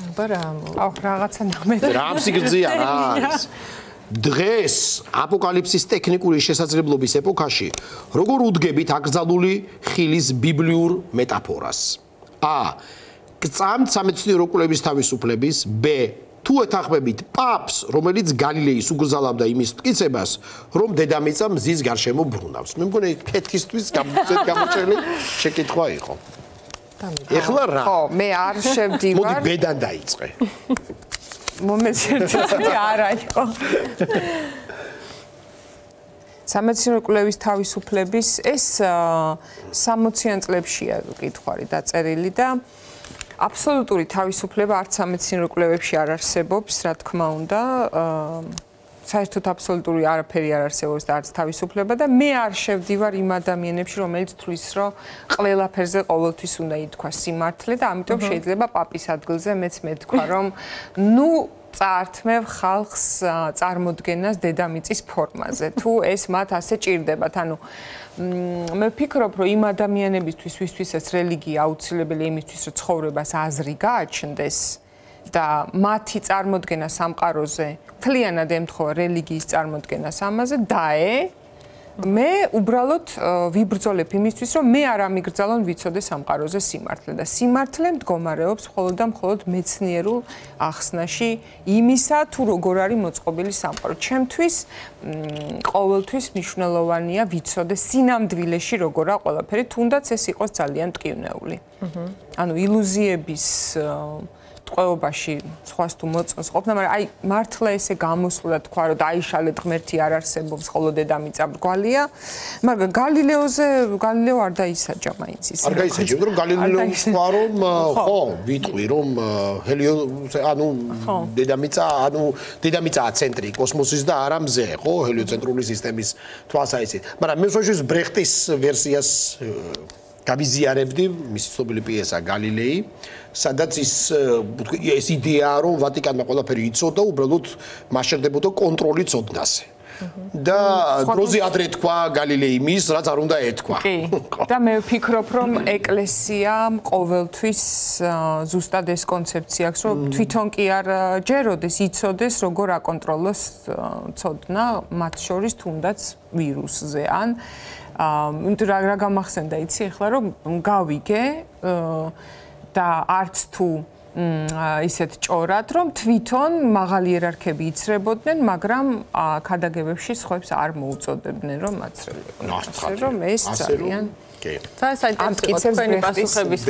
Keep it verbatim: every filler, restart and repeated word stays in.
აბა აუ რაღაცა ნამეთ რა სიგრძეა რა არის დღეს აპოკალიფსის ტექნიკური შესაძლებლობის ეპოქაში როგორ უდგებით აკრძალული ხილის ბიბლიურ მეტაფორას a გწამთ სამეცნიერო კვლევის თავისუფლების b თუ ეთანხმებით პაპს რომელიც გალილეის უგზავნებდა იმის მტკიცებას რომ დედამიწა მზის გარშემო ბრუნავს მე მგონი კეთისთვის გამოჩენილი შეკითხვა იყო ეხლა რა ხო მე არ შევდივარ მოდი ბედან დაიწყე მომენტს ერთი არა იყო სამეცნიერო კვლევის თავისუფლების ეს სამოციან წლებშია კითხვარი დაწერილი და აბსოლუტური თავისუფლება არც სამეცნიერო კვლევებში არ არსებობს რა თქმა უნდა საერთოდ აბსოლუტური არაფერი არ არსებობს და არც თავისუფლება და მე არ შევდივარ იმ ადამიანებში რომელიც თვლის რომ ყველაფერზე ყოველთვის უნდა ითქვა სიმართლე და ამიტომ შეიძლება პაპის ადგილზე მეც მეთქვა რომ ნუ წაართმევ ხალხს წარმოდგენას დედამიწის ფორმაზე თუ ეს მათ ასე ჭირდებათ ანუ მე ვფიქრობ რომ იმ ადამიანებისთვის ვისთვისაც რელიგია აუცილებელია იმისთვის რომ ცხოვრებას აზრი გააჩნდეს და მათი წარმოდგენა სამყაროზე მთლიანად ემთხვევა რელიგიის წარმოდგენას ამაზე დაე მე უბრალოდ ვიბრძოლებ იმისთვის რომ მე არ ამიგრძალონ ვიცოდე სამყაროზე სიმართლე და სიმართლე მდგომარეობს მხოლოდ და მხოლოდ მეცნიერულ ახსნაში იმისა თუ როგორ არის მოწყობილი სამყარო ჩემთვის ყოველთვის მნიშვნელოვანია ვიცოდე სინამდვილეში როგორა ყველაფერი თუნდაც ეს იყოს ძალიან მტკივნეული ანუ ილუზიების ტყვეობაში სხვას თუ მოწონს ყოფნა, მაგრამ აი მართლა ესე გამოსულა თქვა რომ დაიშალეთ ღმერთი არ არსებობს, ხოლო დედამიწა ბრგვალია, მაგრამ გალილეოზე გალილეო არ დაისაჯა მაინც ის. არ გაისაჯა, რომ გალილეო თქვა რომ ხო, ვიტყვი რომ ჰელიო ანუ დედამიწა, ანუ დედამიწაა ცენტრი კოსმოსის და არა მზე, ხო, ჰელიოცენტრული სისტემის თვალსაჩინო. მაგრამ მე შოშის ბრეხტის ვერსიას გავიზიარებდი, მის ცნობილი პიესა გალილეი, სადაც ის ეს იდეაა, რომ ვატიკანმა ყველაფერი იცოდა, უბრალოდ მასშტაბდებოდა კონტროლი ცოდნაზე. და დროზე ადრე თქვა გალილეი მის, რაც არ უნდა ეთქვა. კი. და მე ვფიქრობ, რომ ეკლესიამ ყოველთვის ზუსტად ეს კონცეფცია აქვს, რომ თვითონ კი არ ჯეროდეს, იცოდეს, როგორ აკონტროლოს ცოდნა, მათ შორის თუნდაც ვირუსზე ან იმიტომ რა რა გამახსენდა იცი ახლა რომ გავიგე და არც თუ ისეთ ჭორად რომ თვითონ მაღალი იერარქები იცრებოდნენ მაგრამ ქადაგებებში სხვებს არ მოუწოდებდნენ რომ მაცრელიყვნენ ასე რომ ეს ძალიან კი. საერთოდ ამ კითხვების პასუხების